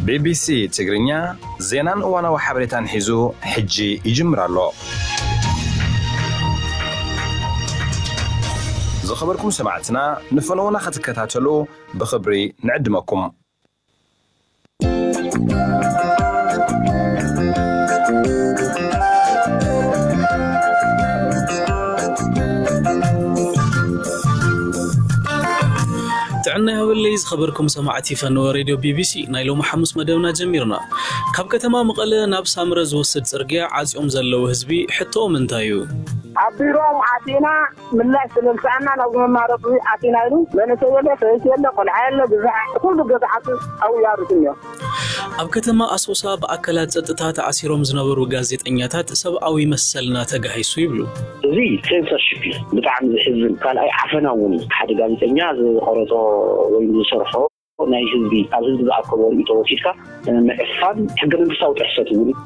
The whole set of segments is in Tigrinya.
ቢቢሲ ትግርኛ ዜናን እዋናዊ ሓበሬታን ሒዙ ሕጂ ይጅምር ኣሎ። ዝኸበርኩም ሰማዕትና፣ ንፈነውና ክትከታተሉ ብኽብሪ ንዕድመኩም። ጥዕና ይሃበለይ ዝኸበርኩም ሰማዕቲ ፈነወ ሬድዮ ቢቢሲ፣ ናይ ሎሚ ሓሙስ መደብና ጀሚርና። ካብ ከተማ መቐለ ናብ ሳምረ ዝወስድ ጽርግያ ዓጽዮም ዘለዉ ህዝቢ ሕቶኦም እንታይ እዩ? ኣብ ቢሮኦም ኣቲና ምላሽ ስለዝሰኣና ናብ መማረፂ ኣቲና ኢሉ፣ መንእሰይ የለ፣ ሰበይቲ የለ፣ ቆልዓ የለ፣ ብዛዕ ኩሉ ገዛሓቱ ኣብያሩት እኒኦ። ኣብ ከተማ ኣሶሳ ብኣካላት ጸጥታ ተኣሲሮም ዝነበሩ ጋዜጠኛታት ሰብኣዊ መሰልና ተጋሂሱ ይብሉ። እዚ ሴንሰርሺፕ እዩ። ብጣዕሚ ዘሕዝን። ካልኣይ ዓፈና እውን እዩ። ሓደ ጋዜጠኛ ዝቆረጾ ወይም ዝሰርሖ ናይ ህዝቢ፣ ካብ ህዝቢ ዝኣከቦ ርእይቶ ወሲድካ ምዕፋን ሕገ መንግስታዊ ጥሕሰት እውን እዩ።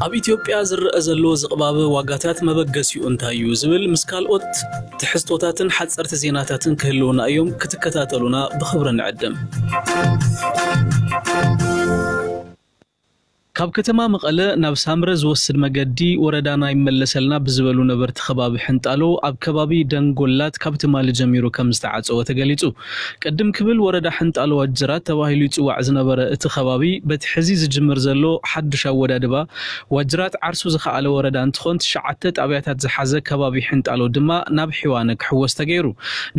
ኣብ ኢትዮጵያ ዝረአ ዘሎ ዝቕባበ ዋጋታት መበገሲኡ እንታይ እዩ ዝብል ምስ ካልኦት ትሕዝቶታትን ሓጸርቲ ዜናታትን ክህልውና እዮም። ክትከታተሉና ብኽብሪ ንዕድም። ካብ ከተማ መቐለ ናብ ሳምረ ዝወስድ መገዲ ወረዳና ይመለሰልና ብዝበሉ ነበርቲ ከባቢ ሕንጣሎ ኣብ ከባቢ ደንጎላት ካብ ትማሊ ጀሚሩ ከም ዝተዓጸወ ተገሊጹ። ቅድም ክብል ወረዳ ሕንጣሎ ዋጅራት ተባሂሉ ይጽዋዕ ዝነበረ እቲ ከባቢ በቲ ሕዚ ዝጅምር ዘሎ ሓዱሽ ኣወዳድባ ዋጅራት ዓርሱ ዝኸኣለ ወረዳ እንትኾን ትሽዓተ ጣብያታት ዝሓዘ ከባቢ ሕንጣሎ ድማ ናብ ሒዋነ ክሕወስ ተገይሩ።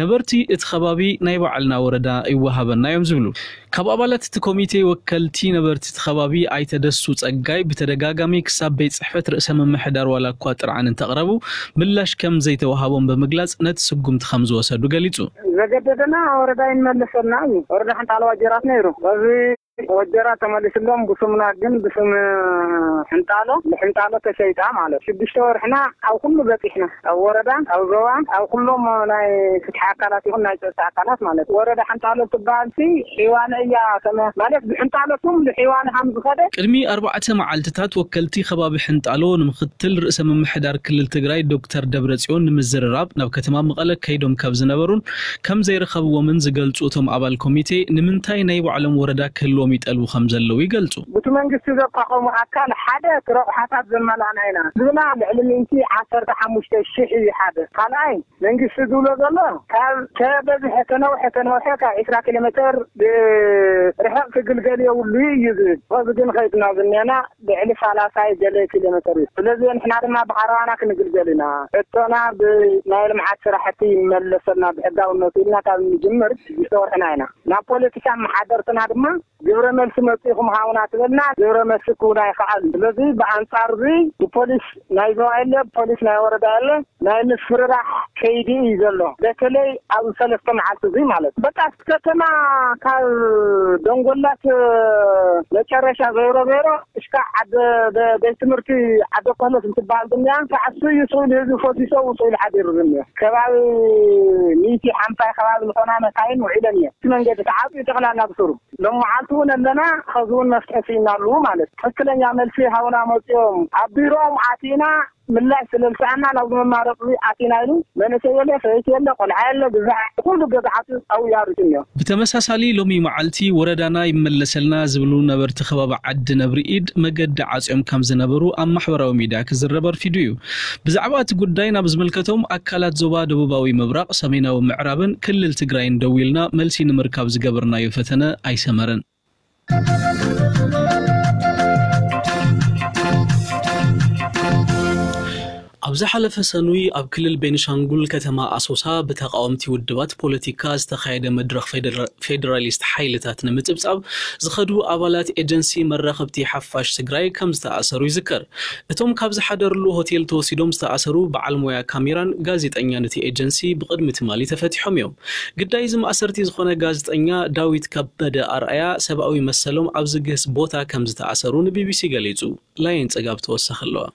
ነበርቲ እቲ ከባቢ ናይ ባዕልና ወረዳ ይወሃበና እዮም ዝብሉ። ካብ ኣባላት እቲ ኮሚቴ ወከልቲ ነበርቲ እቲ ከባቢ ኣይተ ደሱ ጸጋይ ብተደጋጋሚ ክሳብ ቤት ጽሕፈት ርእሰ ምምሕዳር ዋላ እኳ ጥርዓን እንተቕረቡ ምላሽ ከም ዘይተዋሃቦም ብምግላጽ ነቲ ስጉምቲ ከም ዝወሰዱ ገሊጹ። ዘገደደና ወረዳ ይመለሰልና እዩ። ወረዳ ሓንጣሎ ዋጀራት ነይሩ። በዚ ወጀራት ተመሊስሎም ብስምና ግን ብስም ሕንጣሎ፣ ንሕንጣሎ ተሸይጣ ማለት። ሽዱሽተ ወርሕና ኣብ ኩሉ በጺሕና፣ ኣብ ወረዳን፣ ኣብ ዞባን፣ ኣብ ኩሎም ናይ ፍትሒ ኣካላት ይኹን ናይ ጸጥታ ኣካላት ማለት። ወረዳ ሕንጣሎ ትበሃል ሲ ሒዋነ እያ፣ ከመ-፣ ማለት ብሕንጣሎ ስም ንሒዋነ ከም ዝኸደ። ቅድሚ ኣርባዕተ መዓልትታት ወከልቲ ከባቢ ሕንጣሎ ንምክትል ርእሰ ምምሕዳር ክልል ትግራይ ዶክተር ደብረጽዮን ንምዝርራብ ናብ ከተማ መቐለ ከይዶም ካብ ዝነበሩን ከም ዘይረኸብዎምን ዝገልጹ እቶም ኣባል ኮሚቴ፣ ንምንታይ ናይ ባዕሎም ወረዳ ክህልዎም ይጠልቡ ከም ዘለዉ ይገልጹ። ብቲ መንግስቲ ዘቋቋሙ ኣካል ሓደ እቲ ረቑሓታት ዘመላእና ኢና ዝብና ልዕሊ ሚእቲ ዓሰርተ ሓሙሽተ ሽሕ እዩ ሓደ። ካልኣይ መንግስቲ ዝብሎ ዘሎ ካብ ተበዝሐ ተነውሐ ተነውሐ ካብ ዒስራ ኪሎ ሜትር ርሕቕ ክግልገል የብሉ እዩ ዝብል። በዚ ግን ከይድና ዝኔና ልዕሊ ሰላሳ ገለ ኪሎ ሜትር እዩ። ስለዚ ንሕና ድማ ብዓረባና ክንግልገል ኢና። ሕቶና ብናይ ልምዓት ስራሕቲ ይመለሰልና ብሕጋውነቱ ኢልና ካብ ንጅምር ዝተወርሕና ኢና። ናብ ፖለቲካ መሓደርትና ድማ ግብረ መልሲ መጺኹም ሃቡና ትበልና፣ ግብረ መልሲ ክህቡና ኣይኸኣሉን። ስለዚ ብኣንጻር እዚ ብፖሊስ ናይ ዞባ የለ፣ ብፖሊስ ናይ ወረዳ የለ፣ ናይ ምፍርራሕ ከይዲ እዩ ዘሎ። በተለይ ኣብ ሰለስተ መዓልቲ እዚ ማለት በቃ እቲ ከተማ ካብ ደንጎላት መጨረሻ ዘይሮ ዘይሮ እስካ ዓደ በ-፣ ቤት ትምህርቲ ዓደ ኮህለት እንትበሃል ድንያ ተዓሱ እዩ ስኢሉ ህዝቢ ፈሲሶ ኣብኡ ስኢሉ ሓዲሩ ዝኒኦ። ከባቢ ሚእቲ ሓምሳ ከባቢ ዝኾና መካይን ውዒለን እየን። እቲ መንገዲ ተዓፅዩ ጠቕላላ ብስሩ። ሎም መዓልቲ እውን ኣለና፣ ኸዚ እውን መፍትሒ ስኢናሉ ማለት። ትኽክለኛ መልሲ ሃቡና መፂኦም ኣብ ቢሮኦም ኣቲና ምላሽ ስለዝሰኣና ናብ መማረፂ ኣቲና ኢሉ መንእሰይ የለ፣ ሰበይቲ የለ፣ ቆልዓ የለ፣ ብዛዕ ኩሉ ገዛሓቱ ኣብያሩት እኒኦ። ብተመሳሳሊ ሎሚ መዓልቲ ወረዳና ይመለሰልና ዝብሉ ነበርቲ ከባቢ ዓዲ ነብሪ ኢድ መገዲ ዓፅዮም ከም ዝነበሩ ኣብ ማሕበራዊ ሚድያ ክዝረብ ኣርፊዱ እዩ። ብዛዕባ እቲ ጉዳይ ናብ ዝምልከቶም ኣካላት ዞባ ደቡባዊ ምብራቕ፣ ሰሜናዊ ምዕራብን ክልል ትግራይን ደዊልና መልሲ ንምርካብ ዝገበርናዮ ፈተነ ኣይሰመረን። ኣብ ዝሓለፈ ሰኑይ ኣብ ክልል ቤኒሻንጉል ከተማ ኣሶሳ ብተቃወምቲ ውድባት ፖለቲካ ዝተኻየደ መድረኽ ፌደራ-፣ ፌዴራሊስት ሓይልታት ንምጽብጻብ ዝኸዱ ኣባላት ኤጀንሲ መራኸብቲ ሓፋሽ ትግራይ ከም ዝተኣሰሩ ይዝከር። እቶም ካብ ዝሓደርሉ ሆቴል ተወሲዶም ዝተኣሰሩ በዓል ሞያ ካሜራን ጋዜጠኛን እቲ ኤጀንሲ ብቕድሚ ትማሊ ተፈቲሖም እዮም። ግዳይ እዚ ማእሰርቲ ዝኾነ ጋዜጠኛ ዳዊት ከበደ ኣርኣያ ሰብኣዊ መሰሎም ኣብ ዝግህስ ቦታ ከም ዝተኣሰሩ ንቢቢሲ ገሊጹ። ላየን ጽጋብ ተወሳኺ ኣለዋ።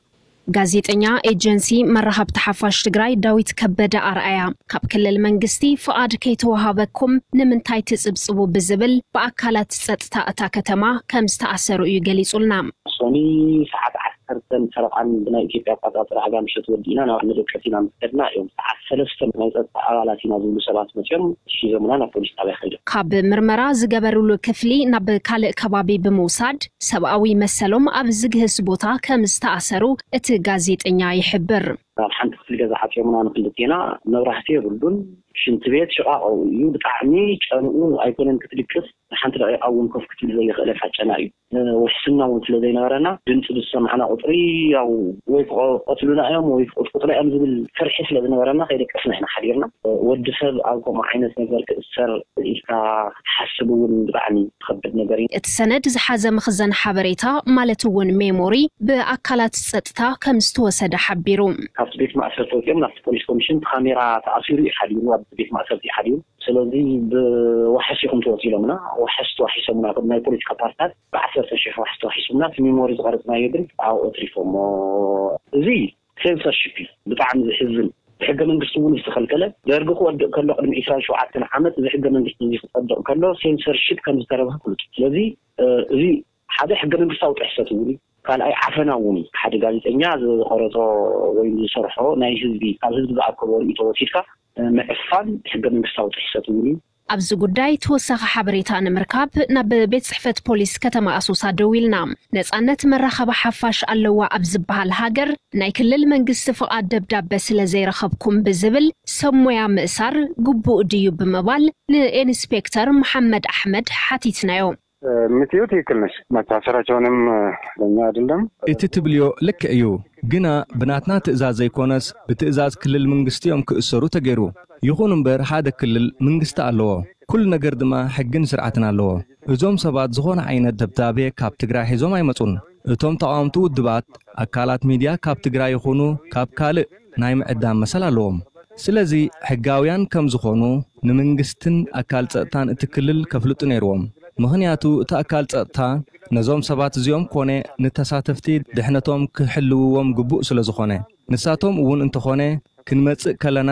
ጋዜጠኛ ኤጀንሲ መራኸብቲ ሓፋሽ ትግራይ ዳዊት ከበደ ኣርኣያ ካብ ክልል መንግስቲ ፍቓድ ከይተወሃበኩም ንምንታይ ትጽብጽቡ ብዝብል ብኣካላት ጸጥታ እታ ከተማ ከም ዝተኣሰሩ እዩ ገሊጹልና። ሶኒ ሰዓት ዓሰርተ ዓሰርተን ፈረቓን ብናይ ኢትዮጵያ ኣቆጻጽራ ኣጋ ምሸት ወዲእና ናብ መደቀሲ ኢና ምስ ከድና እዮም ሰዓት ሰለስተ ናይ ጸጥታ ኣባላት ኢና ዝብሉ ሰባት መጺኦም ሒዞምና ናብ ፖሊስ ጣብያ ከይዶም። ካብ ምርመራ ዝገበርሉ ክፍሊ ናብ ካልእ ከባቢ ብምውሳድ ሰብኣዊ መሰሎም ኣብ ዝግህስ ቦታ ከም ዝተኣሰሩ እቲ ጋዜጠኛ ይሕብር። ኣብ ሓንቲ ክፍሊ ገዛ ዓጽዮምና ንክልቴና፣ መብራህቲ የብሉን፣ ሽንቲ ቤት ሽቓቕ እዩ፣ ብጣዕሚ ጨንኡ ኣይኮነን ክትድቅስ፣ ንሓንቲ ደቂቓ እውን ኮፍ ክትብል ዘይኽእል የፋጨና እዩ። ውሕስና እውን ስለ ዘይነበረና ድምፂ ዝሰማዕና ቁፅሪ ያው ወይ ክቐትሉና እዮም ወይ ክቕጥቅጡና እዮም ዝብል ፍርሒ ስለ ዝነበረና ከይደቀስና ኢና ሓዲርና። ወዲ ሰብ ኣብ ከምኡ ዓይነት ነገር ክእሰር ኢልካ ክትሓስብ እውን ብጣዕሚ ዝኸብድ ነገር እዩ። እቲ ሰነድ ዝሓዘ መኽዘን ሓበሬታ ማለት እውን ሜሞሪ ብኣካላት ፀጥታ ከም ዝተወሰደ ሓቢሩ። ካብቲ ቤት ማእሰርቲ ወፂኦም ናብቲ ፖሊስ ኮሚሽን ካሜራ ተኣሲሩ እዩ ሓዲሩ፣ ኣብ ቤት ማእሰርቲ እዩ ሓዲሩ። ስለዚ ብዋሕስ ኢኹም ትወፁ ኢሎምና፣ ዋሕስ ተዋሒሶምና፣ ናይ ፖለቲካ ፓርትታት ብዓሰርተ ሽሕ ዋሕስ ተዋሒሶምና፣ እቲ ሚሞሪ ዝቐረፅናዮ ግን ኣብኡ ኣትሪፎሞ። እዚ ሴንሰርሺፕ እዩ፣ ብጣዕሚ ዝሕዝን። ብሕገ መንግስቲ እውን ዝተኸልከለ፣ ደርጊ ክወድቕ ከሎ ቅድሚ ዕስራን ሸውዓተን ዓመት እዚ ሕገ መንግስቲ እዚ ክፀድቕ ከሎ ሴንሰርሺፕ ከም ዝተረብሀ ፍሉጥ እዩ። ስለዚ እዚ ሓደ ሕገ መንግስታዊ ጥሕሰት እውን እዩ። ካልኣይ ዓፈና እውን እዩ። ሓደ ጋዜጠኛ ዝቐረፆ ወይም ዝሰርሖ ናይ ህዝቢ ካብ ህዝቢ ዝኣከቦ ርእይቶ ወሲድካ ምዕፋን ሕገ መንግስታዊ ጥሕሰት እውን እዩ። ኣብዚ ጉዳይ ተወሳኺ ሓበሬታ ንምርካብ ናብ ቤት ጽሕፈት ፖሊስ ከተማ ኣሶሳ ደዊልና። ነጻነት መራኸቢ ሓፋሽ ኣለዋ ኣብ ዝበሃል ሃገር ናይ ክልል መንግስቲ ፍቓድ ደብዳበ ስለ ዘይረኸብኩም ብዝብል ሰብ ሞያ ምእሳር ግቡእ ድዩ ብምባል ንኢንስፔክተር መሓመድ ኣሕመድ ሓቲትናዮ። የምትዩ ትክክል ነሽ። መታሰራቸውንም ለኛ አይደለም። እቲ ትብልዮ ልክዕ እዩ፣ ግና ብናትና ትእዛዝ ዘይኮነስ ብትእዛዝ ክልል መንግስቲ እዮም ክእሰሩ ተገይሩ። ይኹን እምበር ሓደ ክልል መንግስቲ ኣለዎ፣ ኩሉ ነገር ድማ ሕግን ስርዓትን ኣለዎ። እዞም ሰባት ዝኾነ ዓይነት ደብዳቤ ካብ ትግራይ ሒዞም ኣይመጹን። እቶም ተቓወምቲ ውድባት ኣካላት ሚድያ ካብ ትግራይ ይኹኑ ካብ ካልእ ናይ ምዕዳም መሰል ኣለዎም። ስለዚ ሕጋውያን ከም ዝኾኑ ንመንግስትን ኣካል ጸጥታን እቲ ክልል ከፍልጡ ነይርዎም። ምኽንያቱ እቲ ኣካል ጸጥታ ነዞም ሰባት እዚኦም ኮነ ንተሳተፍቲ ድሕነቶም ክሕልውዎም ግቡእ ስለ ዝኾነ። ንሳቶም እውን እንተኾነ ክንመጽእ ከለና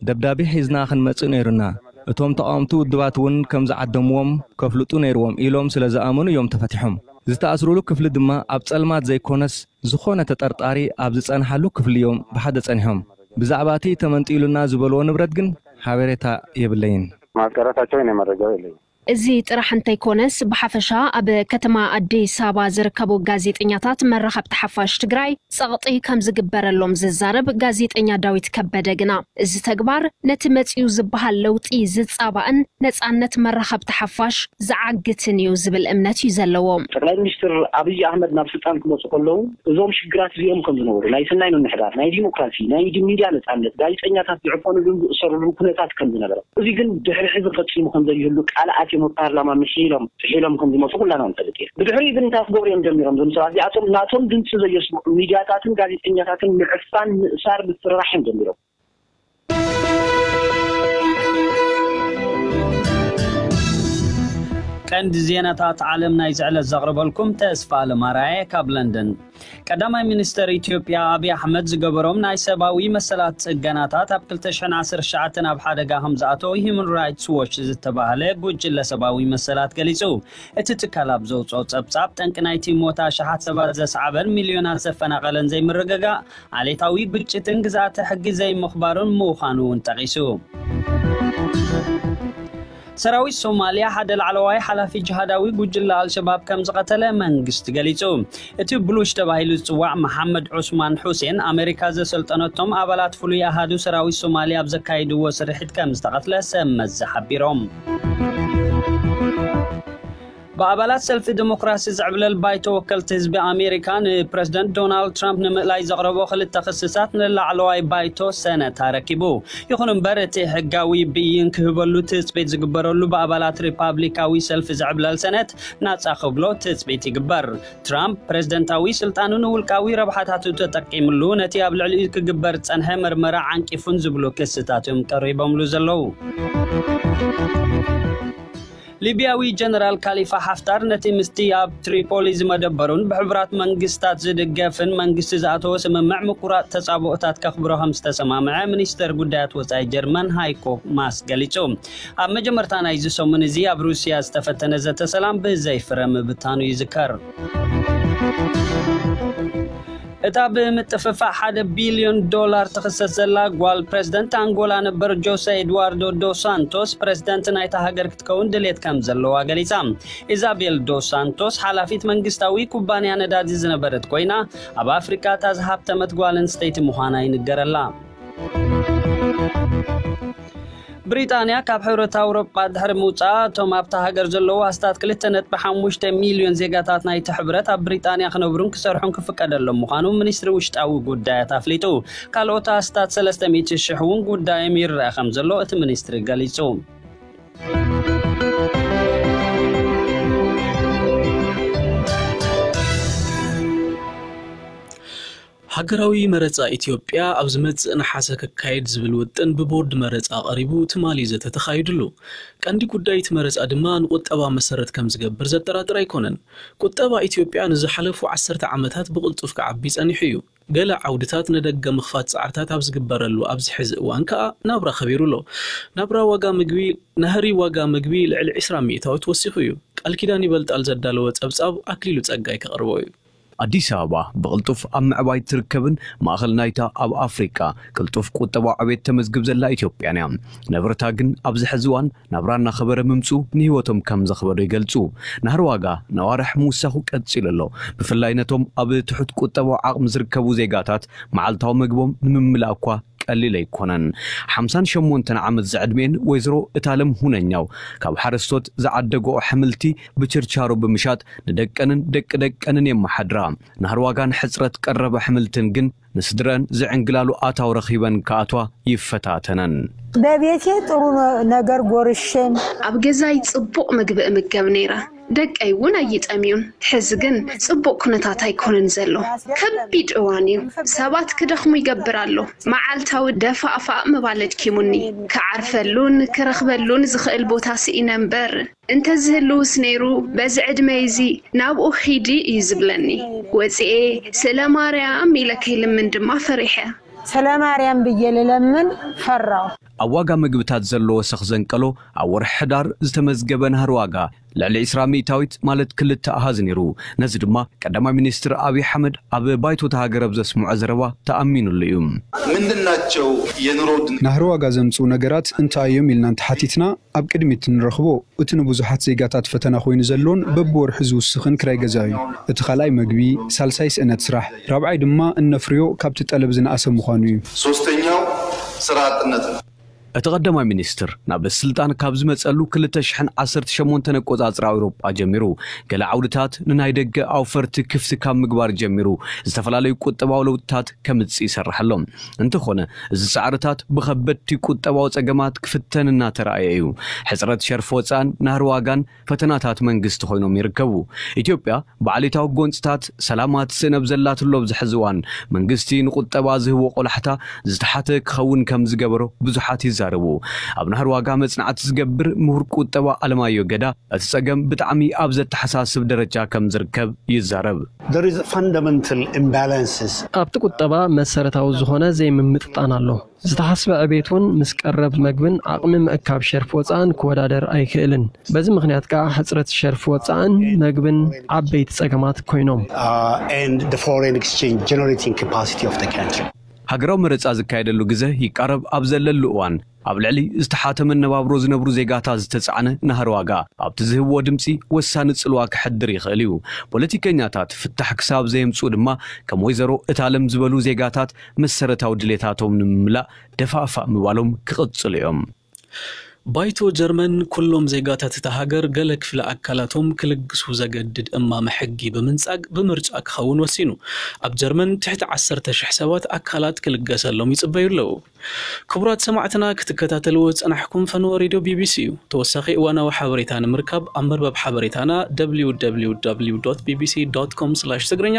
ደብዳቤ ሒዝና ክንመጽእ ነይሩና። እቶም ተቓወምቲ ውድባት እውን ከም ዝዓደምዎም ከፍልጡ ነይርዎም ኢሎም ስለ ዝኣመኑ እዮም ተፈቲሖም። ዝተኣስሩሉ ክፍሊ ድማ ኣብ ጸልማት ዘይኮነስ ዝኾነ ተጠርጣሪ ኣብ ዝጸንሓሉ ክፍሊ እዮም ብሓደ ጸኒሖም። ብዛዕባ እቲ ተመንጢሉና ዝበልዎ ንብረት ግን ሓበሬታ የብለይን። ማስቀረታቸው እኔ መረጃው የለኝም። እዚ ጥራሕ እንተይኮነስ ብሓፈሻ ኣብ ከተማ ኣዲስ ኣበባ ዝርከቡ ጋዜጠኛታት መራኸብቲ ሓፋሽ ትግራይ ጸቕጢ ከም ዝግበረሎም ዝዛረብ ጋዜጠኛ ዳዊት ከበደ ግና እዚ ተግባር ነቲ መጺኡ ዝበሃል ለውጢ ዝጻባእን ነጻነት መራኸብቲ ሓፋሽ ዝዓግትን እዩ ዝብል እምነት እዩ ዘለዎ። ጠቅላይ ሚኒስትር ኣብይ ኣህመድ ናብ ስልጣን ክመፁ ከለዉ እዞም ሽግራት እዚኦም ከም ዝነበሩ፣ ናይ ሰናይ ምምሕዳር፣ ናይ ዲሞክራሲ፣ ናይ ሚድያ ነፃነት፣ ጋዜጠኛታት ዝዕፈኑሉን ዝእሰሩሉን ኩነታት ከም ዝነበረ፣ እዚ ግን ድሕሪ ሕዚ ፈፂሙ ከም ዘይህሉ ቃል ኣትዮም ኣብ ፓርላማ ምሒሎም ጥሒሎም ከም ዝመፁ ኩላና ንፈልጥ ኢና። ብድሕሪኡ ግን እንታይ ክገብሩ እዮም ጀሚሮም? እዞም ሰባት እዚኣቶም ናቶም ድምፂ ዘየስምዑ ሚድያታትን ጋዜጠኛታትን ምዕፋን፣ ምእሳር፣ ምፍርራሕ እዮም ጀሚሮም። ቀንዲ ዜናታት ዓለም ናይ ዝዕለት ዘቕርበልኩም ተስፋ ኣለማራየ ካብ ለንደን። ቀዳማይ ሚኒስተር ኢትዮጵያ ኣብይ ኣሕመድ ዝገበሮም ናይ ሰብኣዊ መሰላት ጽገናታት ኣብ ክልተ ሽሕን ዓሰርተ ትሽዓተን ኣብ ሓደጋ ከም ዝኣተወ ሂዩማን ራይትስ ዎች ዝተባህለ ጉጅለ ሰብኣዊ መሰላት ገሊጹ። እቲ ትካል ኣብ ዘውጽኦ ጸብጻብ ጠንቂ ናይቲ ሞት ኣሽሓት ሰባት ዘስዓበን ሚልዮናት ዘፈናቐለን ዘይምርግጋእ ዓሌታዊ ግጭትን ግዝኣተ ሕጊ ዘይምኽባሩን ምዃኑ እውን ጠቒሱ። ሰራዊት ሶማልያ ሓደ ላዕለዋይ ሓላፊ ጅሃዳዊ ጉጅለ ኣልሸባብ ከም ዝቐተለ መንግስቲ ገሊጹ። እቲ ብሉሽ ተባሂሉ ዝጽዋዕ መሓመድ ዑስማን ሑሴን ኣሜሪካ ዘሰልጠነቶም ኣባላት ፍሉይ ኣሃዱ ሰራዊት ሶማልያ ኣብ ዘካይድዎ ስርሒት ከም ዝተቐትለ ሰብ መዚ ሓቢሮም። ብኣባላት ሰልፊ ዲሞክራሲ ዝዕብለል ባይቶ ወከልቲ ህዝቢ ኣሜሪካ ንፕረዚደንት ዶናልድ ትራምፕ ንምእላይ ዘቕረቦ ክልተ ክስታት ንላዕለዋይ ባይቶ ሰነት ኣረኪቡ። ይኹን እምበር እቲ ሕጋዊ ብይን ክህበሉ ትጽቢት ዝግበረሉ ብኣባላት ሪፓብሊካዊ ሰልፊ ዝዕብለል ሰነት ናጻ ክብሎ ትጽቢት ይግበር። ትራምፕ ፕረዚደንታዊ ስልጣኑ ንውልቃዊ ረብሓታቱ ተጠቂምሉ ነቲ ኣብ ልዕሊኡ ክግበር ዝጸንሐ መርመራ ዓንቂፉን ዝብሉ ክስታት እዮም ቀሪቦምሉ ዘለዉ። ሊብያዊ ጀነራል ካሊፋ ሓፍታር ነቲ ምስቲ ኣብ ትሪፖሊ ዝመደበሩን ብሕቡራት መንግስታት ዝድገፍን መንግስቲ ዝኣተወ ስምምዕ ምቁራጽ ተጻብኦታት ከኽብሮ ከም ዝተሰማምዐ ሚኒስተር ጉዳያት ወጻኢ ጀርመን ሃይኮ ማስ ገሊጹ። ኣብ መጀመርታ ናይዚ ሰሙን እዚ ኣብ ሩስያ ዝተፈተነ ዘተ ሰላም ብዘይ ፍረ ምብታኑ ይዝከር። እታ ብምጥፍፋዕ ሓደ ቢልዮን ዶላር ትኽሰስ ዘላ ጓል ፕሬዝደንት ኣንጎላ ነበር ጆሴ ኤድዋርዶ ዶ ሳንቶስ ፕሬዝደንት ናይታ ሃገር ክትከውን ድሌት ከም ዘለዋ ገሊጻ። ኢዛቤል ዶ ሳንቶስ ሓላፊት መንግስታዊ ኩባንያ ነዳዲ ዝነበረት ኮይና፣ ኣብ ኣፍሪቃ እታ ዝሃብተመት ጓል ኣንስተይቲ ምዃና ይንገረላ። ብሪጣንያ ካብ ሕብረት ኣውሮጳ ድሕሪ ምውጻኣ፣ እቶም ኣብታ ሃገር ዘለዉ ኣስታት ክልተ ነጥቢ ሓሙሽተ ሚልዮን ዜጋታት ናይቲ ሕብረት ኣብ ብሪጣንያ ክነብሩን ክሰርሑን ክፍቀደሎም ምዃኑ ሚኒስትሪ ውሽጣዊ ጉዳያት ኣፍሊጡ። ካልኦት ኣስታት ሰለስተ ሚእቲ ሽሕ እውን ጉዳዮም ይረአ ከም ዘሎ እቲ ሚኒስትሪ ገሊጹ። ሃገራዊ መረጻ ኢትዮጵያ ኣብ ዝመጽእ ነሓሰ ክካየድ ዝብል ውጥን ብቦርድ መረጻ ቀሪቡ ትማሊ ዘተ ተኻይድሉ። ቀንዲ ጉዳይ እቲ መረጻ ድማ ንቁጠባ መሰረት ከም ዝገብር ዘጠራጥር ኣይኮነን። ቁጠባ ኢትዮጵያ ንዝሓለፉ ዓሰርተ ዓመታት ብቕልጡፍ ክዓቢ ጸኒሑ እዩ። ገለ ዓውድታት ንደገ ምኽፋት ጻዕርታት ኣብ ዝግበረሉ ኣብዚ ሕዚ እዋን ከኣ ናብራ ከቢሩ ኣሎ። ናብራ ዋጋ ምግቢ፣ ናህሪ ዋጋ ምግቢ ልዕሊ ዕስራ ሚእታዊት ወሲኹ እዩ። ቃል ኪዳን ይበልጣል ዘዳለወ ጸብጻብ ኣክሊሉ ጸጋይ ከቕርቦ እዩ። ኣዲስ ኣበባ ብቕልጡፍ ኣብ ምዕባይ ትርከብን ማእኸል ናይታ ኣብ ኣፍሪቃ ቅልጡፍ ቁጠባዊ ዕቤት ተመዝግብ ዘላ ኢትዮጵያን እያ። ነበርታ ግን ኣብዚ ሕዚ እዋን ናብራ እናኸበረ ምምፁ ንህይወቶም ከም ዘኽበዶ ይገልፁ። ናህሪ ዋጋ ነዋርሕ ምውሳኹ ቀፂሉ ኣሎ። ብፍላይ ነቶም ኣብ ትሑት ቁጠባዊ ዓቕሚ ዝርከቡ ዜጋታት መዓልታዊ ምግቦም ንምምላእ እኳ ቀሊል ኣይኮነን። ሓምሳን ሸሞንተን ዓመት ዝዕድሜን ወይዘሮ እታለም ሁነኛው ካብ ሓረስቶት ዝዓደግኦ ኣሕምልቲ ብችርቻሮ ብምሻጥ ንደቀንን ደቂ ደቀንን የመሓድራ። ናህሪ ዋጋን ሕፅረት ቀረብ ኣሕምልትን ግን ንስድረን ዝዕንግላሉ ኣታዊ ረኺበን ክኣትዋ ይፈታተነን። በቤቴ ጥሩ ነ-፣ ነገር ጎርሽን ኣብ ገዛይ ጽቡቕ ምግቢ እምገብ ነይረ። ደቀይ እውን ኣይጠምዩን። ሕዚ ግን ጽቡቕ ኩነታት ኣይኮነን ዘሎ። ከቢድ እዋን እዩ። ሰባት ክደኽሙ ይገብር ኣሎ። መዓልታዊ ደፋእፋእ ምባል ኣድኪሙኒ። ክዓርፈሉን ክረኽበሉን ዝኽእል ቦታ ስኢነ እምበር፣ እንተዝህልውስ ነይሩ፣ በዚ ዕድመይ እዚ ናብኡ ኺዲ እዩ ዝብለኒ። ወጺኤ፣ ስለ ማርያም ኢለ ከይልምን ድማ ፈሪሐ። ስለ ማርያም ብዬ ልለምን ፈራሁ። ኣብ ዋጋ ምግብታት ዘሎ ወሰኽ ዘንቀሎ፣ ኣብ ወርሒ ሕዳር ዝተመዝገበ ናህሪ ዋጋ ልዕሊ ዕስራ ሚእታዊት፣ ማለት ክልተ ኣሃዝ ነይሩ። ነዚ ድማ ቀዳማይ ሚኒስትር ኣብይ ኣሕመድ ኣብ ባይቶ እታ ሃገር ኣብ ዘስምዖ ዘረባ ተኣሚኑሉ እዩ። ምንድናቸው የኑሮ ውድነት? ናህሪ ዋጋ ዘምጽኡ ነገራት እንታይ እዮም ኢልና እንተሓቲትና፣ ኣብ ቅድሚት እንረኽቦ፣ እቲ ንብዙሓት ዜጋታት ፈተና ኮይኑ ዘሎን በብወርሑ ዝውስኽን ክራይ ገዛ እዩ። እቲ ካልኣይ መግቢ፣ ሳልሳይ ስእነት ስራሕ፣ ራብዓይ ድማ እነፍርዮ ካብቲ ጠለብ ዝነኣሰ ምዃኑ እዩ። ሶስተኛው ስራ አጥነት ነው። እቲ ቀዳማይ ሚኒስትር ናብ ስልጣን ካብ ዝመጸሉ ክልተ ሽሕን ዓሰርተ ሸሞንተን ኣቆጻጽራ ኣውሮጳ ጀሚሩ፣ ገለ ዓውድታት ንናይ ደገ ኣውፈርቲ ክፍቲ ካብ ምግባር ጀሚሩ፣ ዝተፈላለዩ ቁጠባዊ ለውጥታት ከምጽእ ይሰርሕ ኣሎ። እንተኾነ፣ እዚ ጻዕርታት ብኸበድቲ ቁጠባዊ ጸገማት ክፍተን እናተራእየ እዩ። ሕጽረት ሸርፊ ወጻእን ናህሪ ዋጋን ፈተናታት መንግስቲ ኮይኖም ይርከቡ። ኢትዮጵያ ብዓሌታዊ ጎንጽታት ሰላማ ትስእን ኣብ ዘላትሉ ኣብዚ ሕዚ እዋን፣ መንግስቲ ንቁጠባ ዝህቦ ቆላሕታ ዝተሓተ ክኸውን ከም ዝገበሮ ብዙሓት ይዛረቡ። ኣብ ናህሪ ዋጋ መጽናዕቲ ዝገብር ምሁር ቁጠባ ኣለማዮ ገዳ፣ እቲ ጸገም ብጣዕሚ ኣብ ዘተሓሳስብ ደረጃ ከም ዝርከብ ይዛረብ። There is fundamental imbalances. ኣብቲ ቁጠባ መሰረታዊ ዝኾነ ዘይምምጥጣን ኣሎ። ዝተሓስበ ዕቤት እውን ምስ ቀረብ መግብን ዓቕሚ ምእካብ ሸርፊ ወጻእን ክወዳደር ኣይክእልን። በዚ ምኽንያት ከኣ ሕጽረት ሸርፊ ወጻእን መግብን ዓበይቲ ጸገማት ኮይኖም። Uh, and the foreign exchange generating capacity of the country. ሃገራዊ መረጻ ዝካየደሉ ግዘ ይቃረብ ኣብ ዘለሉ እዋን፣ ኣብ ልዕሊ ዝተሓተ መነባብሮ ዝነብሩ ዜጋታት ዝተጻዕነ ናህሪ ዋጋ ኣብቲ ዝህብዎ ድምጺ ወሳኒ ጽልዋ ክሕድር ይኽእል እዩ። ፖለቲከኛታት ፍታሕ ክሳብ ዘየምጽኡ ድማ፣ ከም ወይዘሮ እታለም ዝበሉ ዜጋታት መሰረታዊ ድሌታቶም ንምምላእ ደፋእፋእ ምባሎም ክቕጽሉ እዮም። ባይቶ ጀርመን ኩሎም ዜጋታት እታ ሃገር ገለ ክፍለ ኣካላቶም ክልግሱ ዘገድድ እማመ ሕጊ ብምንጻግ ብምርጫ ክኸውን ወሲኑ። ኣብ ጀርመን ትሕቲ ዓሰርተ ሽሕ ሰባት ኣካላት ክልገሰሎም ይጽበዩ ኣለዉ። ክቡራት ሰማዕትና፣ ክትከታተልዎ ዝጸናሕኩም ፈነወ ሬድዮ ቢቢሲ እዩ። ተወሳኺ እዋናዊ ሓበሬታ ንምርካብ ኣብ መርበብ ሓበሬታና ደብሊው ደብሊው ደብሊው ዶት ቢቢሲ ዶት ኮም ስላሽ ትግርኛ፣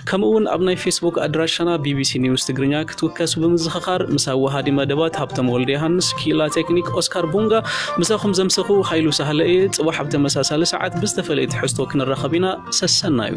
ከምኡ እውን ኣብ ናይ ፌስቡክ ኣድራሻና ቢቢሲ ኒውስ ትግርኛ ክትውከሱ ብምዝኽኻር፣ ምስ ኣወሃዲ መደባት ሃብቶም ወልደ ዮሃንስ፣ ክኢላ ቴክኒክ ኦስካር ቡንጋ፣ ምሳኹም ዘምሰኹ ሃይሉ ሳህለ እየ። ጽባሕ ኣብ ተመሳሳሊ ሰዓት ብዝተፈለየ ትሕዝቶ ክንራኸብ ኢና። ሰሰናዩ።